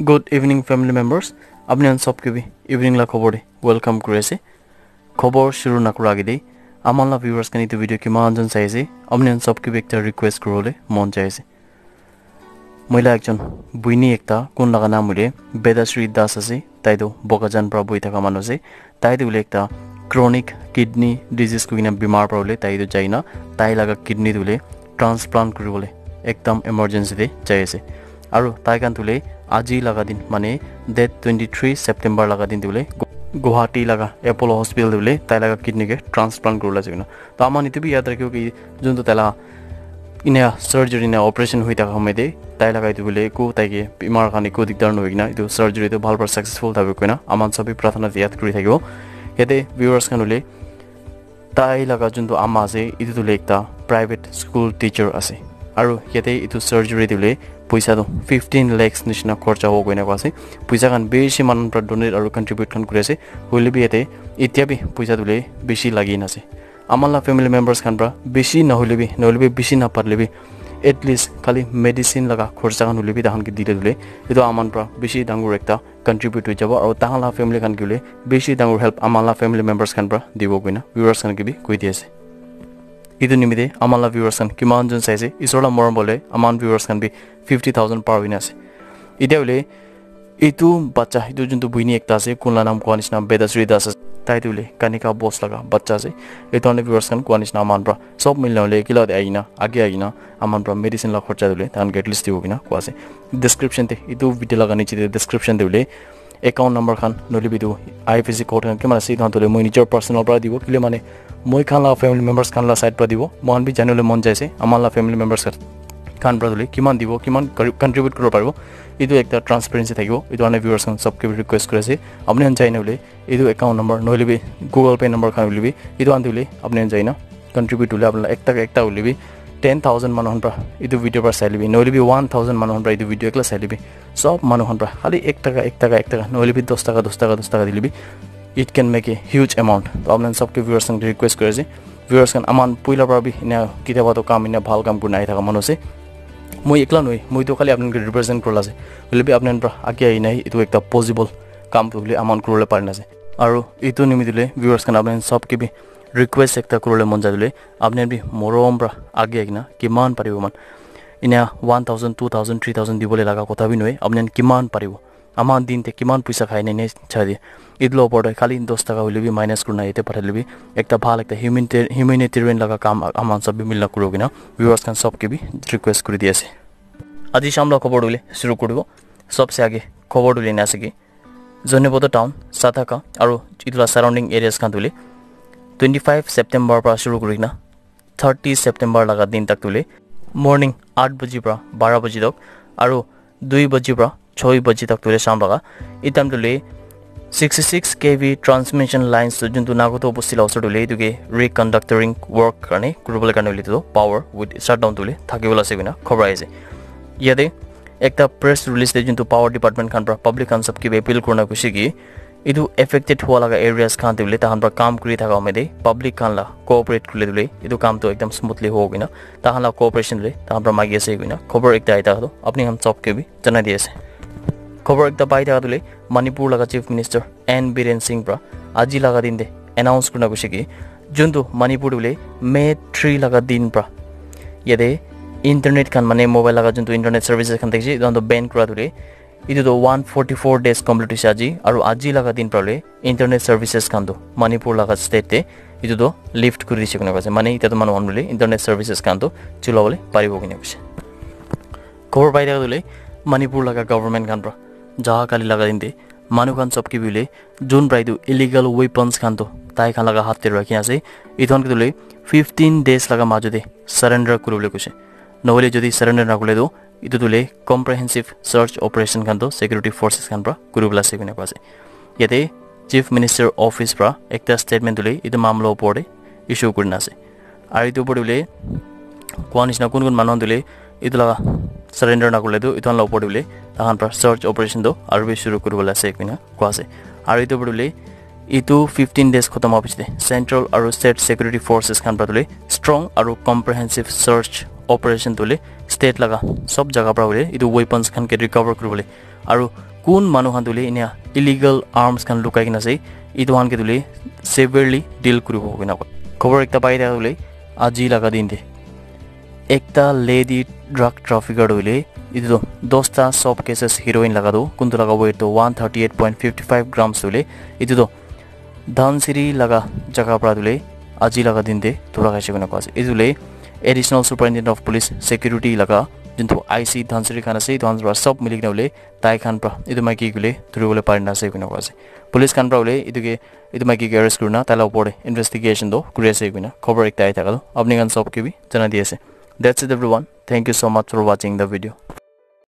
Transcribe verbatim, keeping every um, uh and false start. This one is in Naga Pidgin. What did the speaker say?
Good evening, family members. Apni khan sob ke bi evening la khobor de welcome kuri ase. Khobor shuru nakura age de, aman la viewers khan etu video kiman jon sai ase, apni khan sob ke bi ekta request kuribole mon jai ase. Moi la ekjon buini ekta, kun laga naam hoile Bedasri Das ase, tai tu Bokajan pra buhi thaka manu ase. Tai tu hoile ekta chronic kidney disease koi kena bimar pra hoile tai tu jai na, tai laga kidney tu hoile transplant kuribole ekdam emergency de jai ase. Aru tai khan tu hoile aji laga din, mane date twenty three September laga din tu hoile Gu- Guwahati laga Apollo Hospital tu hoile tai laga kidney ke transplant kuribole ase koina. To aman etu bi yaad rakhibo ki jun tu tai la ina surgery na operation hui thaka hoile de tai laga etu hoile eku tai ke bimar khan eku dikdar nohoi kena etu surgery tu bhal pra successful thabi koina aman sob bi prarthana de yaad kuri thakibo. Yate viewers khan hoile tai laga jun tu ama ase, etu tu hoile ekta private school teacher ase. Aru yate etu surgery tu hoile poisa tu fifteen lakhs nishina khorcha hobo koina koa ase. Poisa khan bishi manu pra donate aru contribute khan kuri ase. Hoile bi yate itya bi poisa tu hoile bishi lagi na ase. Aman la family members khan pra bishi nahoile bi, nahoile bi bishi naparile bi, at least khali medicine laga khorcha khan hoile bi tahan ke dile dile, etu aman pra bishi dangor ekta contribute hoi jabo. Aru tahan la family khan ke hoile bishi dangor help aman la family members khan pra dibo koina viewers khan ke bi koi di ase. Etu nimite aman la viewers khan kiman jon sai ase, isor la morom bole aman viewers khan bi fifty thousand par hoina ase. Itya hoile etu bacha, etu juntu buini ekta ase, kun la naam koa nishina Bedasri Das ase. Tai tu hoile Kanika Bose laga bacha ase. Etu ane viewers khan koa nishina aman pra sob mili na hoile ekila de aina, age aina aman pra medicine la khorcha tu hoile tahan ke at least dibo koina koa ase. Description te, etu video laga niche te description te hoile account number khan, nohoile bi etu I F S C code khan kiman ase, etu khan tu hoile moi nijor personal pra dibo, kile mane moi khan la family members khan la side pra dibo, moi khan bi janibole mon jai ase, aman la family members khan pra tu hoile kiman dibo, kiman kari- contribute kuribo paribo, etu ekta transparency thakibo. Etu karne viewers khan sob ke bi request kuri ase, apni khan jai na hoile etu account number nohoile bi Google Pay number khan hoile bi etu khan tu hoile apni khan jai na contribute hoile apni khan ekta ekta hoile bi ten thousand manu khan pra etu video pra sai le bi, nohoile bi one thousand manu khan pra etu video ekla sai le bi, sob manu khan pra khali ek taka, ek taka, ek taka, nohoile bi dos taka, dos taka, dos taka dile bi, it can make a huge amount. To apni khan sob ke viewers khan ke request kuri ase, viewers khan, aman puila pra bi ena kitiaba to kam, ena bhal kam kurina ahi thaka manu ase. Moi ekla nohoi, moi to khali apni khan ke represent kurila ase. Hoile bi apni khan pra age ahi na etu ekta possible kam tu hoile aman kuribole pari na ase. Aru etu nimite hoile viewers khan, apni khan sob ke bi request ekta kuribole mon jai le, apni khan bi morom pra age ahi kena kiman paribo man, ena one thousand, two thousand, three thousand dibole laga kotha bi nohoi, apni khan kiman paribo, aman din te kiman poisa khai ne ne chai de, etu la opor te khali dos taka hoile bi minus kurina yate pathai le bi ekta bhal ekta humanita- humanitarian laga kam aman sob bi mili na kuribo koina viewers khan sob ke bi request kuri di ase. Aji sham la khobor tu hoile shuru kuri dibo. Sob se age khobor tu hoile ena ase ki Zoniboto town, Sathaka aru etu la surrounding areas khan tu hoile twenty five September pra shuru kuri kena thirty September laga din tak tu hoile morning eight baji pra baro baji tak aru dui baji pra choi baji tak tu hoile sham laga, e time tu hoile sixty six K V transmission lines tu juntu Nagoto bosti la osor tu hoile etu ke reconductoring work karne kuribole karne hoile tu power with shutdown tu hoile thakibole ase koina khobor ahi ase. Yate ekta press release te juntu power department khan pra public khan sob ke bi appeal kurina koise ki etu affected hua laga areas khan te hoile tahan pra kam kuri thaka home de public khan la cooperate kurile tu hoile etu kam tu ekdam smoothly hobo koina tahan la cooperation tu hoile tahan pra magi ase koina khobor ekta ahi thaka tu apni khan sob ke bi janai di ase. Khobor ekta pai thaka tu hoile Manipur laga Chief Minister N Biren Singh pra aji laga din te announce kurina koise ki juntu Manipur tu hoile May three laga din pra yate internet khan, mane mobile laga juntu internet services khan thakise etu khan tu ban kura tu hoile etu tu one forty four days complete hoise aji, aru aji laga din pra hoile internet services khan tu Manipur laga state te etu tu lift kuri dise koina koise, mane etia tu manu khan hoile internet services khan tu chulabole paribo koina koise. Khobor pai thaka tu hoile Manipur laga government khan pra jaha kali laga din te manu khan sob ke bi hoile jun pra etu illegal weapons khan tu tai khan laga hath te rakhi na ase, etu khan ke tu hoile fifteen days laga majo te surrender kuribole koise. Nohoile jodi surrender nakurile tu etu tu hoile comprehensive search operation khan tu security forces khan pra kuribole ase koina koa ase. Yate Chief Minister Office pra ekta statement tu hoile etu mamla opor te issue kurina ase. Aru etu opor te hoile koa nishina kun kun manu khan tu hoile etu laga surrender nakurile tu etu khan la opor te hoile tahan pra search operation tu aru bi shuru kuribole ase koina koa ase. Aru etu opor te hoile etu fifteen days khotom hoa piche te central aru state security forces khan pra tu hoile strong aru comprehensive search operation tu hoile state laga sob jaga para hoile etu weapons khan ke recover kuribole, aru kun manu khan tu hoile enia illegal arms khan lukai kena ase, etu khan ke tu hoile severely deal kuribo koina koi. Khobor ekta pai thaka tu hoile aji laga din te ekta lady drug trafficker tu hoile etu tu dosta sob cases heroin laga tu kuntu laga weight tu one thirty eight point fifty five grams tu hoile etu tu Dhansiri laga jaga para tu hoile aji laga din te dhura khaise koina koa ase. Etu hoile Additional Superintendent of Police Security laga juntu I C Dhansiri khan ase, etu khan para sob mili kena hoile tai khan para etu maiki ke hoile dhuribole pari na ase koina koa ase. Police khan para hoile etu ke, etu maiki ke arrest kurina tai la opor te investigation tu kuri ase koina khobor ekta ahi thaka tu apni khan sob ke bi janai di ase. That's it everyone. Thank you so much for watching the video.